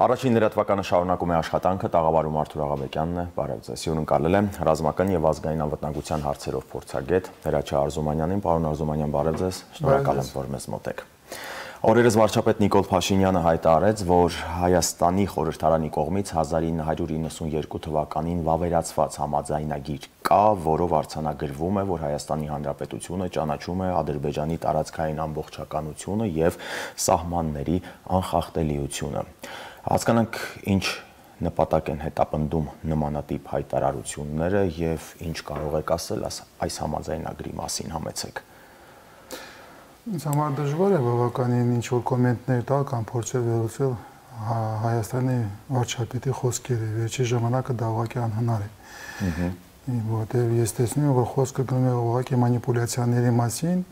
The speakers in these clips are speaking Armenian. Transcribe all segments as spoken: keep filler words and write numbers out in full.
Առաջին լրատվականը շարունակում է աշխատանքը, տաղավարում Արթուր Աղաբեկյանն է, բարև ձեզ, հյուրընկալել է ռազմական եւ ազգային անվտանգության հարցերով փորձագետ Հրաչյա Արզումանյանին, պարոն Արզումանյան, բարև ձեզ, շնորհակալ եմ, որ մեզ մոտ եք։ Օրերս վարչապետ Նիկոլ Փաշինյանը հայտարարեց, որ Հայաստանի խորհրդարանի կողմից հազար ինը հարյուր իննսունյերկու թվականին վավերացված համաձայնագիր կա, որով արձանագրվում է, որ Հայաստանի Հանրապետությունը ճանաչում է Ադրբեջանի տարածքային ամբողջականությունը եւ սահմանների անխախտելիությունը։ Հասկանանք, ինչ նպատակ են հետապնդում նմանատիպ հայտարարությունները եւ ինչ կարող եք ասել այս համաձայնագրի մասին, համեցեք։ Ինձ համար դժվար է բավականին ինչ-որ կոմենտներ տալ կամ փորձել վերլուծել Հայաստանի վարչապետի խոսքերը, վերջի ժամանակը դա ուղղակի անհնար է։ Որտեղ ես տեսնում եմ, որ խոսքը գնում է ուղղակի մանիպուլյացիաների մասին,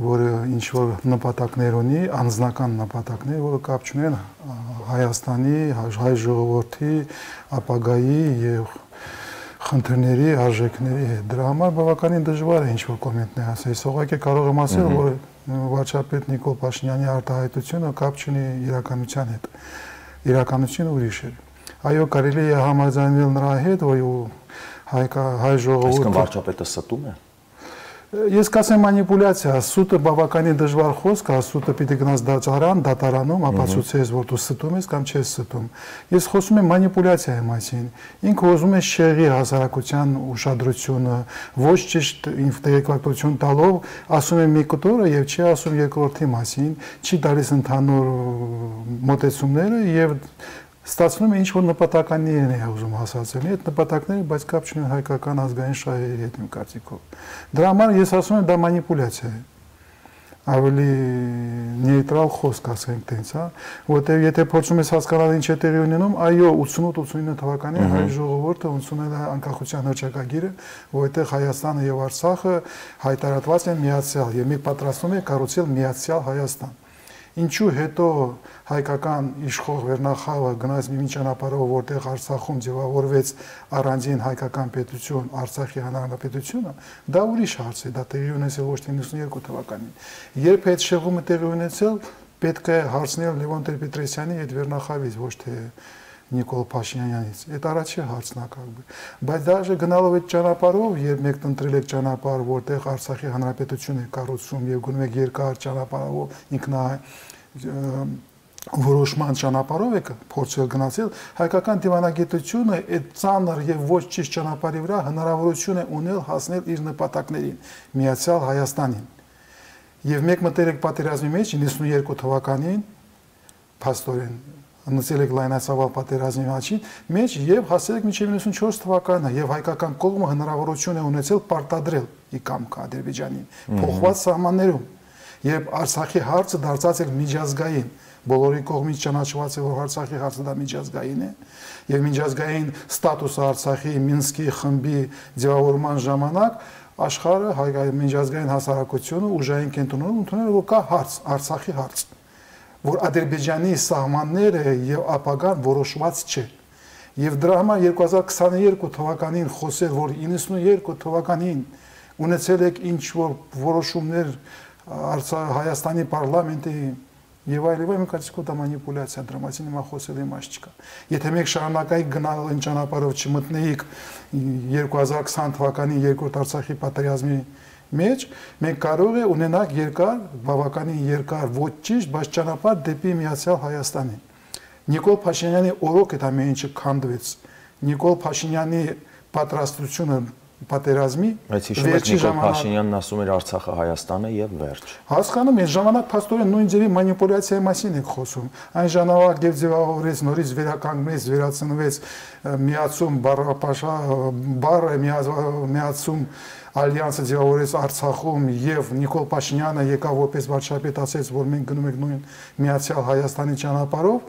որը ինչ-որ նպատակներ ունի, անձնական նպատակներ, որը կապ չունեն Հայաստանի, հայ ժողովրդի, ապագայի եւ խնդիրների, արժեքների հետ։ Դրա համար բավականին դժվար է ինչ-որ կոմենտներ ասել։ Ես ուղղակի կարող եմ ասել, որ վարչապետ Նիկոլ Փաշինյանի արտահայտությունը կապ չունի իրականության հետ։ Իրականությունը ուրիշ է։ Այո, կարելի է համաձայնել նրա հետ, որ հայ ժողովուրդը… Այսինքն վարչապետը ստում է։ Ես կասեմ մանիպուլյացիա, սուտը բավականին դժվար խոսք, սուտը պիտի գնաս դատարան, դատարանում ապացուցես, որ դու ստում ես կամ չես ստում։ Ես խոսում եմ մանիպուլյացիայի մասին։ Ինքը ուզում է շեղի հասարակության ուշադրությունը, ոչ ճիշտ տեղեկատվություն տալով, ասում է մի կտորը եւ չի ասում երկրորդի մասին, չի տալիս ընդհանուր մոտեցումները եւ ստացվում է ինչ-որ նպատականներ է ուզում հասարակել, այդ նպատակները, բայց կապ չունեն հայկական ազգային շահերի հետ, իմ կարծիքով։ Դրա համար ես ասում եմ, դա մանիպուլյացիա է։ Ավելի նեյտրալ խոսք ասենք տենց, հա, որտեղ եթե փորձում ես հասկանալ ինչ է տեղի ունենում, այո, ութսունութ ութսունինը թվականին հայ ժողովուրդը ընդունել է անկախության հռչակագիրը, որտեղ Հայաստանը եւ Արցախը հայտարարված են միացյալ եւ մի պատրաստում է կառուցել միացյալ Հայաստան։ Ինչու հետո հայկական իշխող վերնախավը գնաց մի ճանապարհով, որտեղ Արցախում ձևավորվեց առանձին հայկական պետություն, Արցախի հանրապետությունը, դա ուրիշ հարց է, դա տեղի ունեցել ոչ թե իննսունյերկու թվականին։ Երբ այդ շեղումը տեղի ունեցել, պետք է հարցնել Լևոն Տեր-Պետրոսյանի այդ վերնախավից, ոչ թե Նիկոլ Փաշինյանից։ Այդ առաջի հարցն է կապ։ Բայց դաժե գնալով այդ ճանապարհով, երբ մեկն ընտրել եք ճանապարհ, որտեղ Արցախի հանրապետություն է կառուցում եւ գնում եք երկար ճանապարհով, ինքնա որոշման ճանապարհով եք փորձել գնացել, հայկական դիվանագիտությունը այդ ծանր եւ ոչ ճիշտ ճանապարհի վրա հնարավորություն է ունել հասնել իր նպատակներին, միացյալ Հայաստանին։ Եվ մեկ մտել եք պատերազմի մեջ իննսունյերկու թվականին, փաստորեն նցել եք լայնածավալ պատերազմի մեջ եւ հասել եք մինչեւ իննսունչորս թվականը եւ հայկական կողմը հնարավորություն է ունեցել պարտադրել ի կամք Ադրբեջանին փոխված սահմաններում եւ Արցախի հարցը դարձած է միջազգային բոլորի կողմից ճանաչված է որ Արցախի հարցը դա միջազգային է եւ միջազգային ստատուսը Արցախի Մինսկի խմբի ձևավորման ժամանակ աշխարհը հայկական միջազգային հասարակությունը ուժային կենտրոնում ընդունել որ կա հարց Արցախի հարց որ Ադրբեջանի սահմանները եւ ապագան որոշված չէ։ Եվ դրա համար երկու հազար քսաներկու թվականին խոսել, որ իննսունյերկու թվականին ունեցել եք ինչ-որ որոշումներ Հայաստանի պարլամենտի եւ այլն, իմ կարծիքով դա մանիպուլյացիա, դրա մասին հիմա խոսել իմաստ չկա։ Եթե մեկ շարունակայիք գնալ այն ճանապարհով չմտնեիք երկու հազար քսան թվականին երկրորդ Արցախի պատերազմի մեջ մենք կարող է ունենալ երկար, բավականին երկար, ոչ ճիշտ, բայց ճանապարհ դեպի միացյալ Հայաստանին։ Նիկոլ Փաշինյանի օրոք այդ ամեն ինչը քանդվեց։ Նիկոլ Փաշինյանի պատրաստությունը պատերազմի Բայց հիշում եք Նիկոլ Փաշինյանն ասում էր Արցախը Հայաստան է եւ վերջ։ Հասկանում ես, ժամանակ փաստորեն նույն ձևի մանիպուլյացիայի մասին եք խոսում։ Այն ժամանակ եւ ձևավորեց նորից վերականգնեց, վերացնվեց միացում բառապաշա բառը միացում Ալյանսը ձևավորեց Արցախում եւ Նիկոլ Փաշինյանը եկավ որպես վարչապետ ասեց, որ մենք գնում ենք նույն միացյալ Հայաստանի ճանապարհով,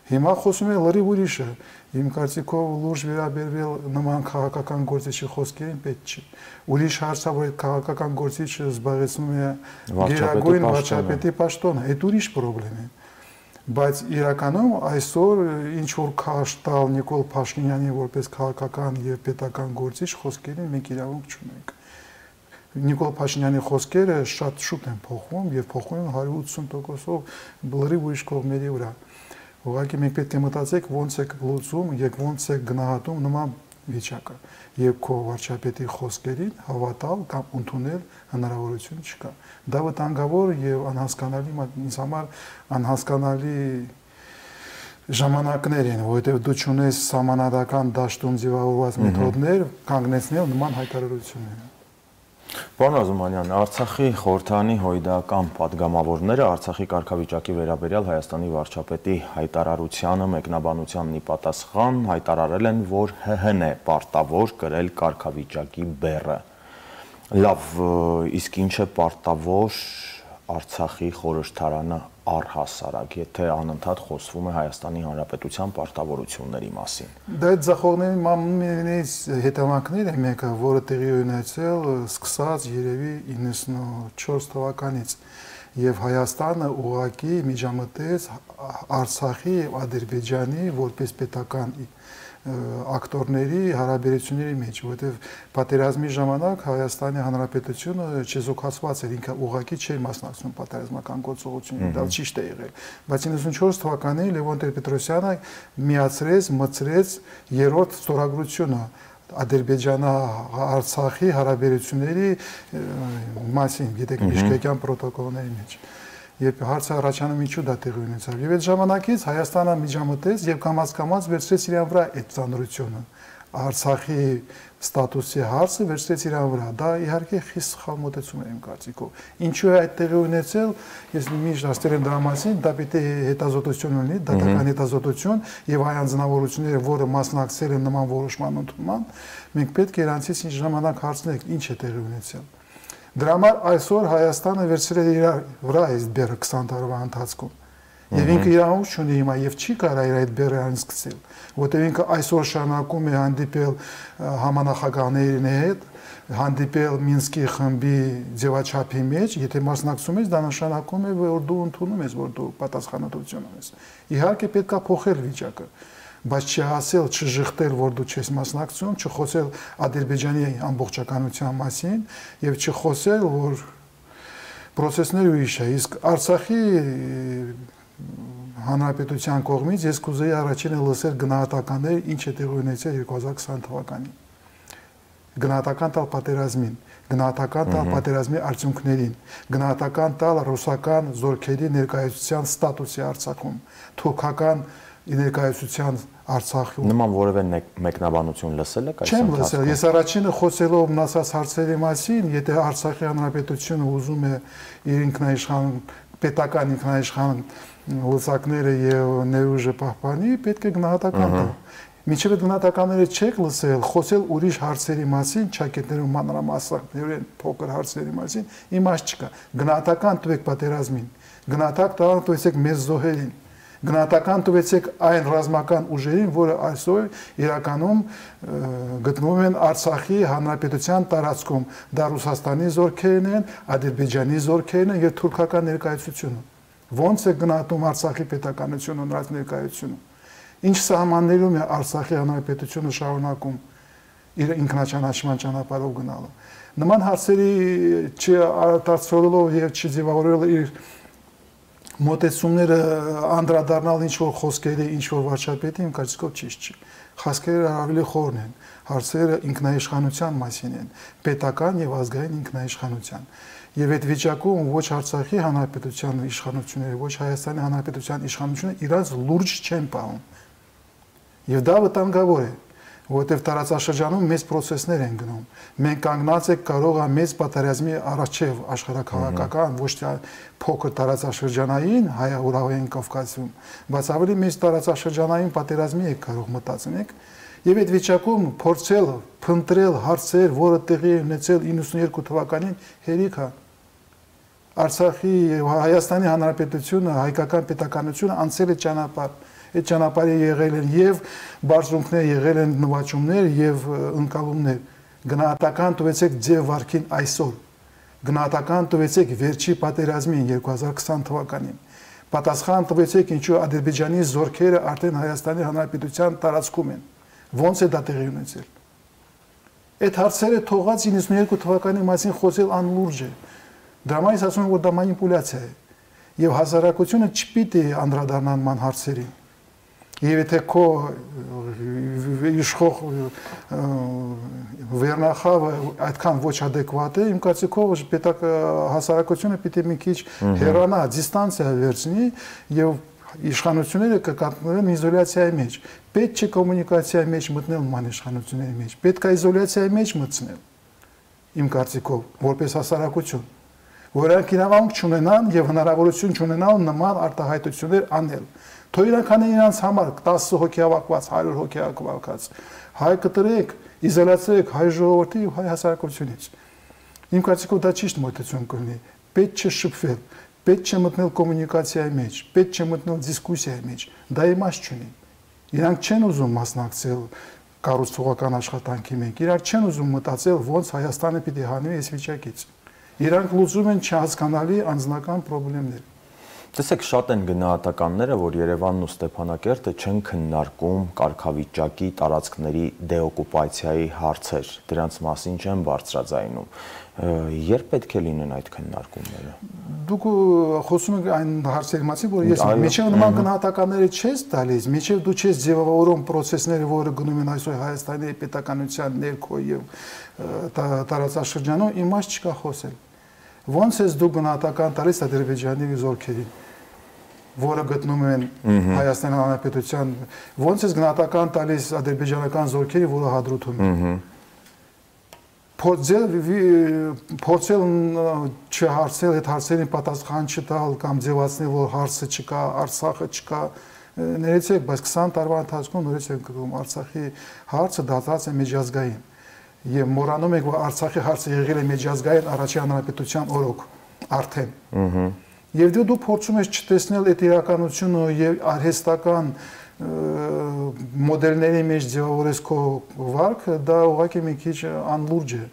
հիմա խոսում է լրիվ ուրիշը։ Իմ կարծիքով լուրջ վերաբերվել նման քաղաքական գործիչի խոսքերին պետք չի։ Ուրիշ հարց է, որ այդ քաղաքական գործիչը զբաղեցնում է գերագույն վարչապետի պաշտոնը, այդ ուրիշ խնդրեմ է։ Բայց իրականում այսօր ինչ որ քաշ տալ Նիկոլ Փաշինյանի որպես քաղաքական եւ պետական գործիչ խոսքերին մենք իրավունք չունենք։ Նիկոլ Փաշինյանի խոսքերը շատ շուտ են փոխվում եւ փոխվում հարյուր ութսուն տոկոսով լրիվ ուրիշ կողմերի վրա։ Ուղղակի մենք պետք է մտածենք ոնց է լուծում եւ ոնց է գնահատում նման վիճակը եւ քո վարչապետի խոսքերին հավատալ կամ ընդունել հնարավորություն չկա։ Դա վտանգավոր եւ անհասկանալի ինձ համար անհասկանալի ժամանակներ են, որովհետեւ դու չունես համանadական դաշտում ձևավորված մեթոդներ կանգնեցնել նման հայտարարությունները։ Պարոն Ազոմանյան, Արցախի խորհրդանի հույդական падգամավորները Արցախի կարգավիճակի վերաբերյալ Հայաստանի վարչապետի հայտարարությանը մեկնաբանությանն ի պատասխան հայտարարել են, որ ՀՀ-ն է պարտավոր կրել կարգավիճակի բեռը։ Լավ, իսկ ինչ է պարտավոր Արցախի խորհրդարանը առհասարակ, եթե անընդհատ խոսվում է Հայաստանի Հանրապետության պարտավորությունների մասին։ Դա այդ ձախողների մամուլներից հետևանքներ է մեկը, որը տեղի ունեցել սկսած երևի իննսունչորս թվականից եւ Հայաստանը ուղղակի միջամտեց Արցախի եւ Ադրբեջանի որպես պետական ակտորների հարաբերությունների մեջ, որովհետև պատերազմի ժամանակ Հայաստանի Հանրապետությունը չեզոքացված էր, ինքը ուղղակի չէր մասնակցում պատերազմական գործողություններին, դա ճիշտ է եղել։ Բայց իննսունչորս թվականին Լևոն Տեր-Պետրոսյանը միացրեց, մցրեց երրորդ ստորագրությունը Ադրբեջանա-Արցախի հարաբերությունների մասին, գիտեք, Բիշկեկյան պրոտոկոլների մեջ։ Երբ հարցը առաջանում ինչու դա տեղի ունեցավ։ Եվ այդ ժամանակից Հայաստանը միջամտեց եւ կամաց-կամաց վերցրեց իրան վրա այդ ծանրությունը։ Արցախի ստատուսի հարցը վերցրեց իրան վրա։ Դա իհարկե խիստ սխալ մոտեցում է իմ կարծիքով։ Ինչու է այդ տեղի ունեցել, ես միշտ ասել եմ դրա մասին, դա պիտի հետազոտություն ունի, դատական հետազոտություն եւ այ անձնավորությունները, որը մասնակցել են նման որոշման ընդունման, մենք պետք է իրանցից ինչ ժամանակ հարցնենք, ինչ է տեղի ունեցել։ Դրա համար այսօր Հայաստանը վերցրել է իր վրա այս բեռը քսան տարվա ընթացքում։ Եվ ինքը իրավունք չունի հիմա եւ չի կարող իր այդ բեռը անցկացնել, որտեղ ինքը այսօր շարունակում է հանդիպել համանախագահների հետ, հանդիպել Մինսկի խմբի ձևաչափի մեջ, եթե մասնակցում ես, դա նշանակում է, որ դու ընդունում ես, որ դու պատասխանատվություն ունես։ Իհարկե պետք է փոխել վիճակը, բայց չհասել, չժխտել, որ դու չես մասնակցում, չխոսել Ադրբեջանի ամբողջականության մասին եւ չխոսել, որ process-ները ուրիշ է, իսկ Արցախի Հանրապետության կողմից ես կուզեի առաջինը լսել գնահատականներ, ինչ է տեղի ունեցել երկու հազար քսան թվականին։ Գնահատական տալ պատերազմին, գնահատական տալ պատերազմի արդյունքներին, գնահատական տալ ռուսական զորքերի ներկայացության ստատուսի Արցախում, թուրքական ներկայացության Արցախում։ Նման որևէ մեկնաբանություն լսել եք այս Չեմ լսել, ես առաջինը խոսելով մնացած հարցերի մասին, եթե Արցախի Հանրապետությունը ուզում է իր ինքնաիշխան պետական ինքնաիշխան լծակները եւ ներուժը պահպանի, պետք է գնահատական տալ։ Մինչև այդ գնահատականները չեք լսել, խոսել ուրիշ հարցերի մասին, ճակետներում մանրամասնորեն փոքր հարցերի մասին, իմաստ չկա։ Գնահատական տվեք պատերազմին, գնահատական տվեցեք մեծ զոհերին, գնահատական տվեցեք այն ռազմական ուժերին, որը այսօր իրականում գտնվում են Արցախի Հանրապետության տարածքում։ Դա Ռուսաստանի զորքերն են, Ադրբեջանի զորքերն են եւ թուրքական ներկայացությունը։ Ոնց է գնահատում Արցախի պետականությունը նրանց ներկայությունը։ Ինչ սահմաններում է Արցախի Հանրապետությունը շարունակում իր ինքնաճանաչման ճանապարհով գնալը։ Նման հարցերի չարտացոլելով եւ չձևավորելով իր մոտեցումները անդրադառնալ ինչ որ խոսքերի, ինչ որ վարչապետի իմ կարծիքով ճիշտ չի։ Խոսքերը ավելի խորն են, հարցերը ինքնաիշխանության մասին են, պետական եւ ազգային ինքնաիշխանության։ Եվ այդ վիճակում ոչ Արցախի Հանրապետության իշխանությունները, ոչ Հայաստանի Հանրապետության իշխանությունը իրաց լուրջ չեն պահում։ Եվ դա վտանգավոր է, որովհետև տարածաշրջանում մեծ process-ներ են գնում։ Մենք կանգնած ենք կարող է մեծ պատերազմի առաջև աշխարհակաղակական, ոչ թե փոքր տարածաշրջանային հայ-ուրալային Կովկասում, բայց ավելի մեծ տարածաշրջանային պատերազմի եք կարող մտածենք։ Եվ այդ վիճակում փորձել, փնտրել հարցեր, որը տեղի ունեցել իննսունյոթ թվականին հերիք է։ Արցախի եւ Հայաստանի Հանրապետությունը, հայկական պետականությունը անցել է ճանապարհ։ Այդ ճանապարհը եղել են եւ բարձունքներ, եղել են նվաճումներ եւ ընկալումներ։ Գնահատական տվեցեք ձև վարքին այսօր։ Գնահատական տվեցեք վերջի պատերազմին երկու հազար քսան թվականին։ Պատասխան տվեցեք ինչու Ադրբեջանի զորքերը արդեն Հայաստանի Հանրապետության տարածքում են։ Ոնց է դա տեղի ունեցել։ Այդ հարցերը թողած իննսունյոթ թվականի մասին խոսել անլուրջ է։ Դրա համար ասում եմ, որ դա մանիպուլյացիա է։ Եվ հասարակությունը չպիտի անդրադառնան ման հարցերին։ Եվ եթե քո իշխող վերնախավը այդքան ոչ ադեկվատ է, իմ կարծիքով պետք հասարակությունը պիտի մի քիչ հեռանա, դիստանցիա վերցնի եւ իշխանությունները կկատնվեն իզոլյացիայի մեջ։ Պետք չէ կոմունիկացիայի մեջ մտնել նման իշխանությունների մեջ։ Պետք է իզոլյացիայի մեջ մտցնել։ Իմ կարծիքով, որպես հասարակություն, որ նրանք իրավունք չունենան եւ հնարավորություն չունենան նման արտահայտություններ անել։ Թող իրանք անեն իրանց համար տասը հոգի հավաքված, հարյուր հոգի հավաքված, հայ կտրեք, իզոլացրեք հայ ժողովրդի եւ հայ հասարակությունից։ Իմ կարծիքով դա ճիշտ մոտեցում կլինի։ Պետք չէ շփվել, պետք չէ մտնել կոմունիկացիայի մեջ, պետք չէ մտնել դիսկուսիայի մեջ։ Դա իմաստ չունի։ Իրանք չեն ուզում մասնակցել կառուցողական աշխատանքի մեջ։ Իրանք չեն ուզում մտածել ոնց Հայաստանը պիտի հանվի այս վիճակից։ Իրանք լուծում են չհասկանալի անձնական խնդիրներ։ Տեսեք, շատ են գնահատականները, որ Երևանն ու Ստեփանակերտը չեն քննարկում կարգավիճակի տարածքների դեօկուպացիայի հարցեր, դրանց մասին չեն բարձրաձայնում։ Երբ պետք է լինեն այդ քննարկումները։ Դուք խոսում եք այն հարցերի մասին, որ ես միջև նման գնահատականները չես տալիս, միջև դու չես ձևավորում process-ները, որը գնում են այսօր Հայաստանի պետականության ներքո եւ տարածաշրջանում, իմաստ չկա խոսել։ Ոնց ես դու գնահատական տալիս Ադրբեջանի զորքերին, որը գտնում են Հայաստանի Հանրապետության, ոնց ես գնահատական տալիս ադրբեջանական զորքերի, որը Հադրութում են։ Փորձել փորձել չհարցել այդ հարցերին պատասխան չտալ կամ ձևացնել, որ հարցը չկա, Արցախը չկա, ներեցեք, բայց քսան տարվա ընթացքում նորից ենք գրում Արցախի հարցը դարձած է միջազգային։ Եվ մոռանում եք, որ Արցախի հարցը եղել է միջազգային առաջին հանրապետության օրոք արդեն։ Եվ դու դու փորձում ես չտեսնել այդ իրականությունը եւ արհեստական մոդելների մեջ ձևավորես քո վարքը, դա ուղղակի մի քիչ անլուրջ է։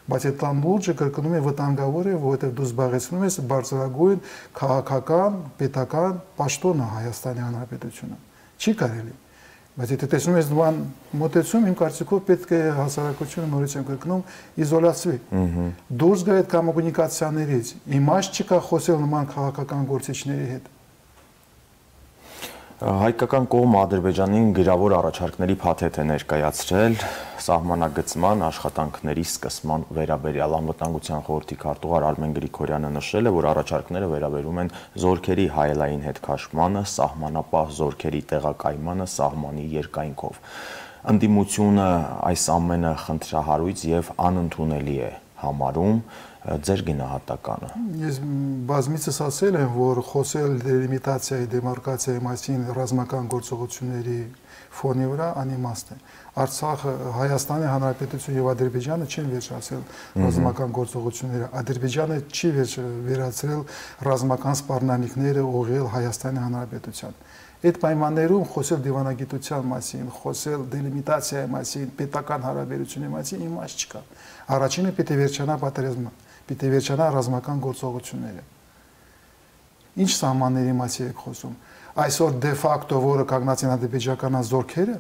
Բայց այդ անլուրջը կրկնում է վտանգավոր է, որովհետեւ դու զբաղեցնում ես բարձրագույն քաղաքական, պետական պաշտոնը Հայաստանի Հանրապետությունը։ Չի կարելի։ Բայց եթե տեսնում ես նման մոտեցում, իմ կարծիքով պետք է հասարակությունը նորից եմ կրկնում իզոլացվի։ Դուրս գա այդ կոմունիկացիաներից, իմաստ չկա խոսել նման քաղաքական գործիչների հետ։ Հայկական կողմը Ադրբեջանին գրավոր առաջարկների փաթեթ է ներկայացրել սահմանագծման աշխատանքների սկսման վերաբերյալ։ Անվտանգության խորհրդի քարտուղար Արմեն Գրիգորյանը նշել է, որ առաջարկները վերաբերում են զորքերի հայելային հետքաշմանը, սահմանապահ զորքերի տեղակայմանը սահմանի երկայնքով։ Ընդդիմությունը այս ամենը խնդրահարույց եւ անընդունելի է համարում, ձեր գնահատականը։ Ես բազմիցս ասել եմ, որ խոսել դելիմիտացիայի, դեմարկացիայի մասին ռազմական գործողությունների ֆոնի վրա անիմաստ է։ Արցախը, Հայաստանի Հանրապետությունը եւ Ադրբեջանը չեն վերջացրել ռազմական գործողությունները։ Ադրբեջանը չի վերացրել ռազմական սպառնալիքները ուղղել Հայաստանի Հանրապետության։ Այդ պայմաններում խոսել դիվանագիտության մասին, խոսել դելիմիտացիայի մասին, պետական հարաբերությունների մասին իմաստ չկա։ Առաջինը պիտի վերջանա պատերազմը, պիտի վերջանա ռազմական գործողությունները։ Ինչ սահմանների մասին եք խոսում։ Այսօր դե ֆակտո, որը կանգնած են ադրբեջանական զորքերը,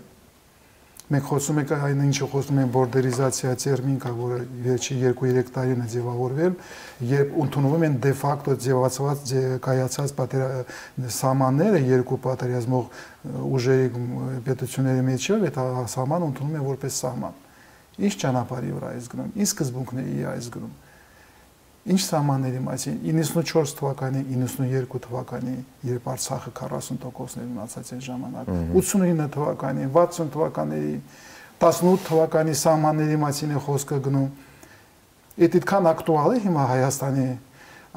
մենք խոսում ենք այն ինչը խոսում են բորդերիզացիա տերմին, որը վերջի երկու-երեք տարին է ձևավորվել, երբ ընդունվում են դե ֆակտո ձևացված կայացած սահմանները երկու պատերազմող ուժերի պետությունների միջև, այդ սահմանը ընդունում են որպես սահման։ Ինչ ճանապարհի վրա է զգնում, ինչ սկզբունքների է զգնում։ Ինչ սահմանների մասին իննսունչորս թվականի, իննսունուերկու թվականի, երբ Արցախը քառասուն տոկոսներ ունեցած այն ժամանակ, ութսունինը թվականի, վաթսուն թվականների, տասնութ թվականի սահմանների մասին է խոսքը գնում։ Այդ այդքան ակտուալ է հիմա Հայաստանի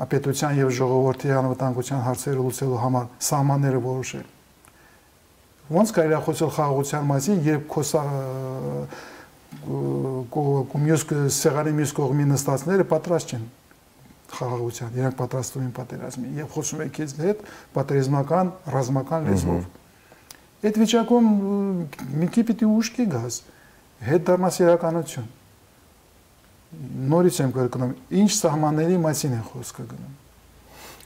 պետության եւ ժողովրդի անվտանգության հարցերը լուծելու համար սահմանները որոշել։ Ոնց կարելի է խոսել խաղաղության մասին, երբ քոսա կոմյոս սեղանի մյուս կողմի նստածները պատրաստ չեն խաղաղության, իրանք պատրաստվում են պատերազմի եւ խոսում են քեզ հետ պատերազմական ռազմական լեզվով։ Այդ վիճակում մի քիչ պիտի ուշքի գաս, հետ դառնաս իրականություն։ Նորից եմ կրկնում, ինչ սահմանների մասին է խոսքը գնում։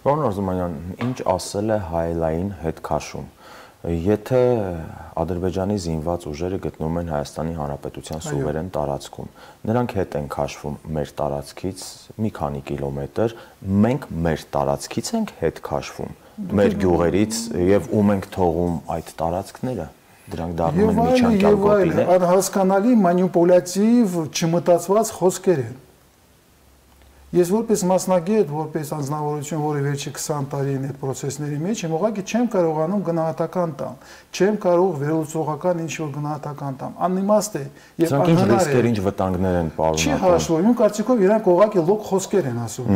Պարոն Արզումանյան, ինչ ասել է հայելային հետքաշում։ Եթե Ադրբեջանի զինված ուժերը գտնվում են Հայաստանի Հանրապետության սուվերեն տարածքում, նրանք հետ են քաշվում մեր տարածքից մի քանի կիլոմետր, մենք մեր տարածքից ենք հետ քաշվում, մեր գյուղերից եւ ում ենք թողում այդ տարածքները, դրանք դառնում են միջանկյալ գոտիներ։ Եվ այլ անհասկանալի մանիպուլյատիվ չմտածված խոսքեր են։ Ես որպես մասնագետ, որպես անձնավորություն, որը վերջի քսան տարին այդ process-ների մեջ եմ, ուղղակի չեմ կարողանում գնահատական տալ, չեմ կարող վերլուծողական ինչ-որ գնահատական տալ։ Անիմաստ է եւ անհնար է։ Ինչ ռիսկեր, ինչ վտանգներ են պարունակում։ Չի հաշվվում, իմ կարծիքով իրանք ուղղակի լոկ խոսքեր են ասում։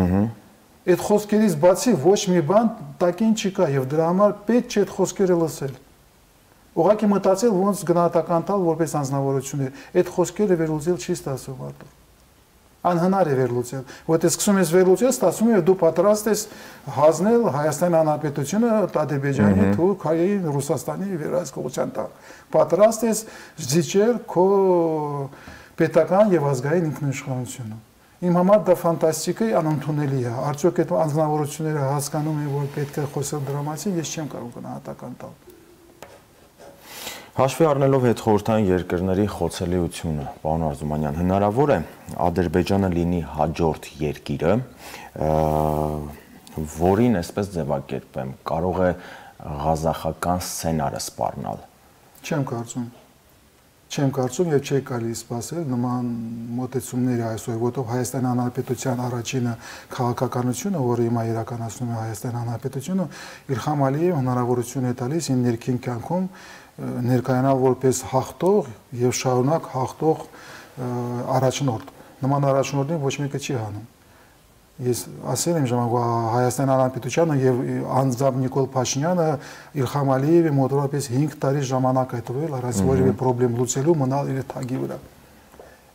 Այդ խոսքերից բացի ոչ մի բան տակին չկա եւ դրա համար պետք չէ այդ խոսքերը լսել։ Ուղղակի մտածել ոնց գնահատական տալ որպես անձնավորություններ։ Այդ խոսքերը վերլուծել չի ստացվում արդյոք։ Անհնար է վերլուծել, որտեղ սկսում ես վերլուծել, ստացվում է դու պատրաստ ես հանձնել Հայաստանի Հանրապետությունը Ադրբեջանի, Թուրքիայի, Ռուսաստանի վերահսկողության տակ։ Պատրաստ ես զիջել քո պետական եւ ազգային ինքնիշխանությունը։ Իմ համար դա ֆանտաստիկ է, անընդունելի է։ Արդյոք այդ անձնավորությունները հասկանում են, որ պետք է խոսել դրա մասին, ես չեմ կարող գնահատական տալ։ Հաշվի առնելով հետխորհրդային երկրների խոցելիությունը, պարոն Արզումանյան, հնարավոր է Ադրբեջանը լինի հաջորդ երկիրը, որին այսպես ձևակերպեմ, կարող է ղազախական սցենարը սպառնալ։ Չեմ կարծում։ Չեմ կարծում եւ չի կարելի սպասել նման մոտեցումների այսօր, որտեղ Հայաստանի Հանրապետության առաջինը քաղաքականությունը, որը հիմա իրականացնում է Հայաստանի Հանրապետությունը, Իլհամ Ալիևը հնարավորություն է տալիս իր ներքին կյանքում ներկայանալ որպես հաղթող եւ շարունակ հաղթող առաջնորդ։ Նման առաջնորդին ոչ մեկը չի հանում։ Ես ասել եմ ժամանակ Հայաստանի Հանրապետությանը եւ անձամբ Նիկոլ Փաշինյանը Իլհամ Ալիևի մոտավորապես հինգ տարի ժամանակ է տվել առանց որևէ խնդրեմ լուծելու մնալ իր թագի վրա։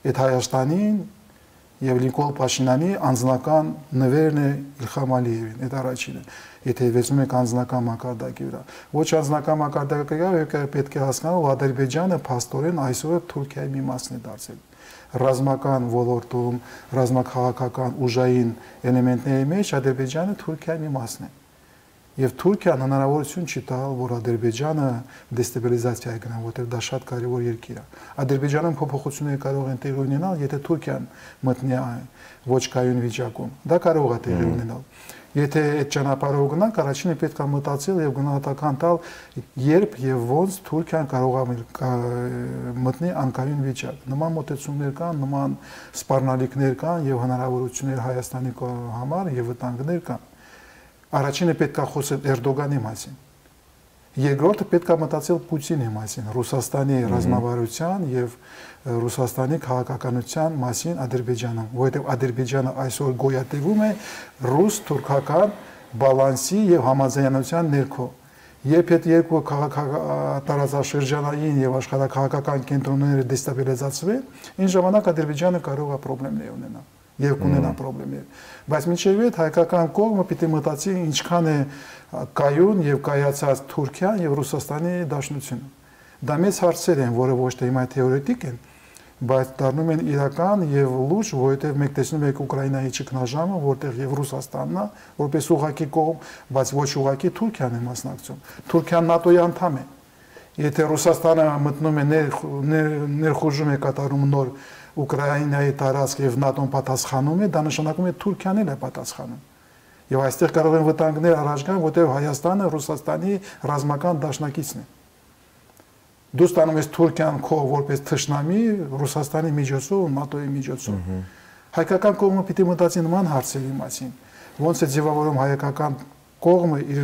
Այդ Հայաստանին եւ Նիկոլ Փաշինյանի անձնական նվերն է Իլհամ Ալիևին, այդ առաջինը։ Եթե վերցնում եք անձնական մակարդակի վրա, ոչ անձնական մակարդակի վրա պետք է հասկանալ, որ Ադրբեջանը փաստորեն այսօր Թուրքիայի մի մասն է դարձել։ Ռազմական ոլորտում, ռազմաքաղաքական ուժային էլեմենտների մեջ Ադրբեջանը Թուրքիայի մի մասն է։ Եվ Թուրքիան հնարավորություն չի տալ, որ Ադրբեջանը դեստաբիլիզացիա գնա, որտեղ դա շատ կարևոր երկիր է։ Ադրբեջանում փոփոխություններ կարող են տեղի ունենալ, եթե Թուրքիան մտնի ոչ կայուն վիճակում։ Դա կարող է տեղի ունենալ։ Եթե այդ ճանապարհով գնանք, առաջինը պետք է մտածել եւ գնահատական տալ, երբ եւ ոնց Թուրքիան կարող է մտնի անկայուն վիճակ։ Նման մոտեցումներ կան, նման սպառնալիքներ կան եւ հնարավորություններ Հայաստանի համար եւ վտանգներ կան։ Առաջինը պետք է խոսել Էրդողանի մասին։ Երկրորդը պետք է մտածել Պուտինի մասին, Ռուսաստանի ռազմավարության եւ Ռուսաստանի քաղաքականության մասին Ադրբեջանում, որովհետեւ Ադրբեջանը այսօր գոյատևում է ռուս-թուրքական բալանսի եւ համաձայնության ներքո։ Երբ այդ երկու տարածաշրջանային եւ աշխարհակաղակական կենտրոնները դեստաբիլիզացվեն, այն ժամանակ Ադրբեջանը կարող է խնդիրներ ունենալ եւ կունենա խնդիրներ։ Բայց մինչեւ այդ հայկական կողմը պիտի մտածի ինչքան է կայուն եւ կայացած Թուրքիան եւ Ռուսաստանի դաշնությունը։ Դա մեծ հարցեր են, որը ոչ թե հիմա թեորետիկ են, բայց դառնում են իրական եւ լուրջ, որովհետեւ մեկ տեսնում եք Ուկրաինայի ճգնաժամը, որտեղ եւ Ռուսաստանն է, որպես ուղակի կողմ, բայց ոչ ուղակի Թուրքիան է մասնակցում։ Թուրքիան ՆԱՏՕ-ի անդամ է։ Եթե Ռուսաստանը մտնում է ներխուժում է կատարում նոր Ուկրաինայի տարածք եւ ՆԱՏՕ-ն պատասխանում է, դա նշանակում է Թուրքիան էլ է պատասխանում։ Եվ այստեղ կարող են վտանգներ առաջ գան, որտեղ Հայաստանը Ռուսաստանի ռազմական դաշնակիցն է։ Դու ստանում ես Թուրքիան քո որպես թշնամի Ռուսաստանի միջոցով, ՆԱՏՕ-ի միջոցով։ Հայկական կողմը պիտի մտածի նման հարցերի մասին։ Ոնց է ձևավորում հայկական կողմը իր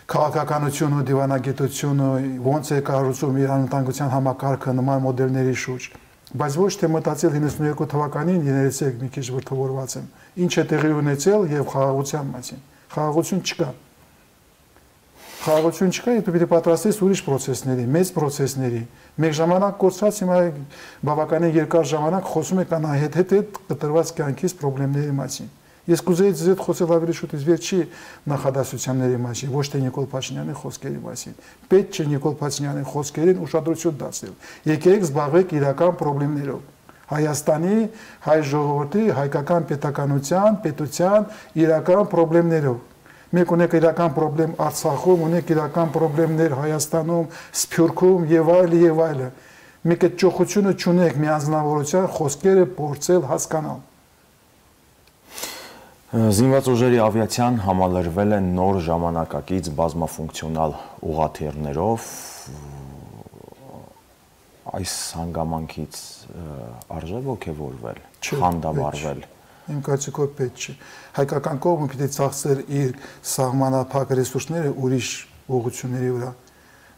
քաղաքականությունը, դիվանագիտությունը, ոնց է կառուցում իր անվտանգության համակարգը նման մոդելների շուրջ։ Բայց ոչ թե մտածել իննսունյոթ թվականին, երեցեք մի քիչ վրթովորված եմ, ինչ է տեղի ունեցել եւ խաղաղության մասին։ Խաղաղություն չկա։ Խաղաղություն չկա, եթե պիտի պատրաստես ուրիշ process-ների, մեծ process-ների։ Մեկ ժամանակ կորցած հիմա բավականին երկար ժամանակ խոսում եք անհետ-հետ կտրված կյանքից խնդիրների մասին։ Ես կուզեի ձեզ հետ խոսել ավելի շուտից վերջի նախադասությունների մասին, ոչ թե Նիկոլ Փաշինյանի խոսքերի մասին։ Պետք չէ Նիկոլ Փաշինյանի խոսքերին ուշադրություն դարձնել։ Եկեք զբաղվեք իրական խնդիրներով։ Հայաստանի, հայ ժողովրդի, հայկական պետականության, պետության իրական խնդիրներով։ Մենք ունենք իրական խնդրեմ Արցախում, ունենք իրական խնդիրներ Հայաստանում, Սփյուռքում եւ այլ եւ այլ։ Մենք այդ ճոխությունը չունենք մի անձնավորության խոսքերը փորձել հասկանալ։ Զինված ուժերի ավիացիան համալրվել է նոր ժամանակակից բազմաֆունկցիոնալ ուղղաթիռներով։ Այս հանգամանքից արժե ոգևորվել, խանդավառվել։ Իմ կարծիքով պետք չէ։ Հայկական կողմը պիտի ծախսեր իր սահմանափակ ռեսուրսները ուրիշ ուղղությունների վրա,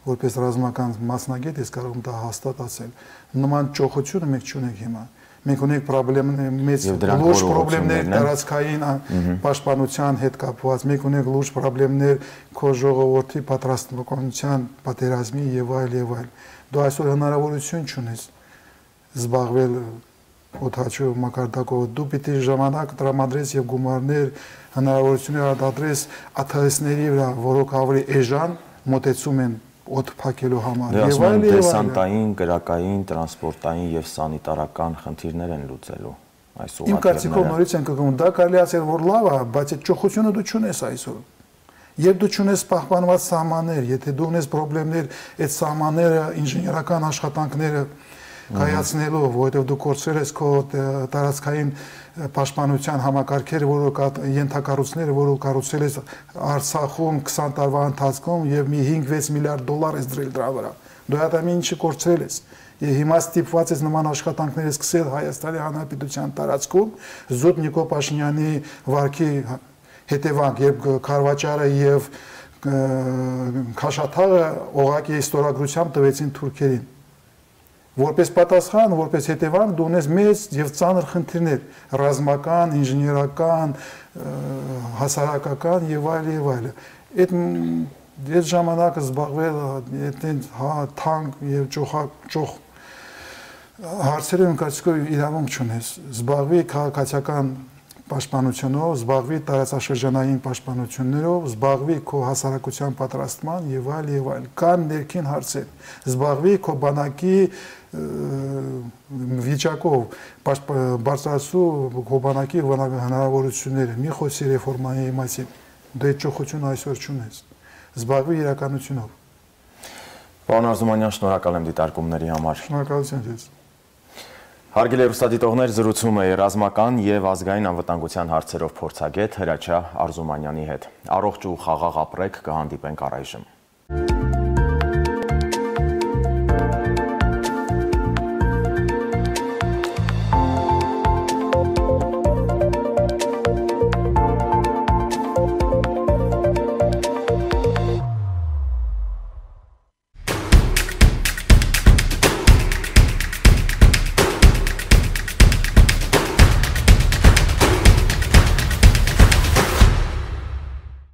որպես ռազմական մասնագետ ես կարող եմ դա հաստատ ասել։ Նման ճոխությունը մենք չունենք հիմա։ Մենք ունենք պրոբլեմներ, մեծ լուրջ պրոբլեմներ տարածքային պաշտպանության հետ կապված, մենք ունենք լուրջ պրոբլեմներ քո ժողովրդի պատրաստողության, պատերազմի եւ այլ եւ այլ։ Դու այսօր հնարավորություն չունես զբաղվել օդաչու մակարդակով, դու պիտի ժամանակ տրամադրես եւ գումարներ, հնարավորություններ արտադրես աթսների վրա, որոնք ավելի էժան մոտեցում են օդ փակելու համար։ Եվ այլ դեսանտային, կրակային, տրանսպորտային եւ սանիտարական խնդիրներ են լուծելու այս ուղղաթիռները։ Իմ կարծիքով նորից են կգում, դա կարելի ասել որ լավ է, բայց այդ ճոխությունը դու չունես այսօր։ Երբ դու չունես պահպանված սահմաններ, եթե դու ունես խնդիրներ, այդ սահմանները, ինժեներական աշխատանքները կայացնելով, որովհետև դու կորցրել ես քո տարածքային պաշտպանության համակարգերը, որոնք ենթակառույցները, որոնք կառուցել ես Արցախում քսան տարվա ընթացքում եւ մի հինգ-վեց միլիարդ դոլար ես դրել դրա վրա։ Դու այդ ամեն ինչը կորցրել ես։ Եվ հիմա ստիպված ես նման աշխատանքներ սկսել Հայաստանի Հանրապետության տարածքում Զուտ Նիկոլ Փաշինյանի վարկի հետևանք, երբ Քարվաճարը եւ Քաշաթաղը օղակի ստորագրությամբ տվեցին թուրքերին։ Որպես պատասխան, որպես հետևանք դու ունես մեծ եւ ծանր խնդիրներ, ռազմական, ինժեներական, հասարակական եւ այլ եւ այլ։ Այդ այդ ժամանակը զբաղվել այդ թանկ եւ ճոխ հարցերը կարծիքով իրավունք չունես։ Զբաղվի քաղաքացիական պաշտպանությունով, զբաղվի տարածաշրջանային պաշտպանություններով, զբաղվի քո հասարակության պատրաստման եւ այլ եւ այլ։ Կան ներքին հարցեր։ Զբաղվի քո բանակի վիճակով, բարձրացու քո բանակի հնարավորությունները, մի խոսի ռեֆորմայի մասին։ Դու այդ ճոխությունը այսօր չունես։ Զբաղվի իրականությունով։ Պարոն Արզումանյան, շնորհակալ եմ դիտարկումների համար։ Շնորհակալություն ձեզ։ Հարգելի հեռուստադիտողներ, զրուցում էի ռազմական եւ ազգային անվտանգության հարցերով փորձագետ Հրաչյա Արզումանյանի հետ։ Առողջ ու խաղաղ ապրեք, կհանդիպենք առայժմ։